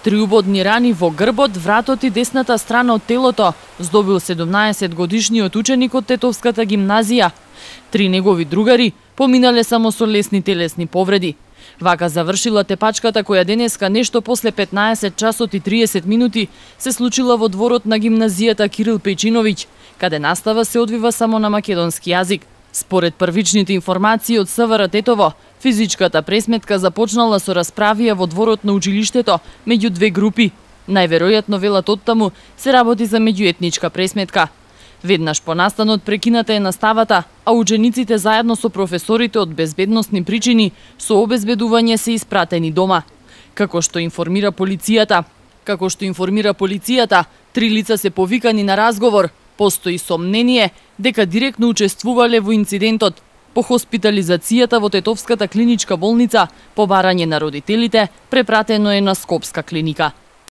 3 убодни рани во грбот, вратот и десната страна од телото здобил 17-годишниот ученик од Тетовската гимназија. 3 негови другари поминале само со лесни телесни повреди. Вака завршила тепачката која денеска нешто после 15 часот и 30 минути се случила во дворот на гимназијата Кирил Пејчиновиќ, каде настава се одвива само на македонски јазик. Според првичните информации од СВР Тетово, физичката пресметка започнала со расправија во дворот на училиштето меѓу две групи. Најверојатно, велат оттаму, се работи за меѓуетничка пресметка. Веднаш по настанот прекината е наставата, а учениците заедно со професорите од безбедносни причини со обезбедување се испратени дома. Како што информира полицијата, 3 лица се повикани на разговор. Постои сомнение дека директно учествувале во инцидентот. По хоспитализацијата во Тетовската клиничка болница, по барање на родителите, препратено е на Скопска клиника.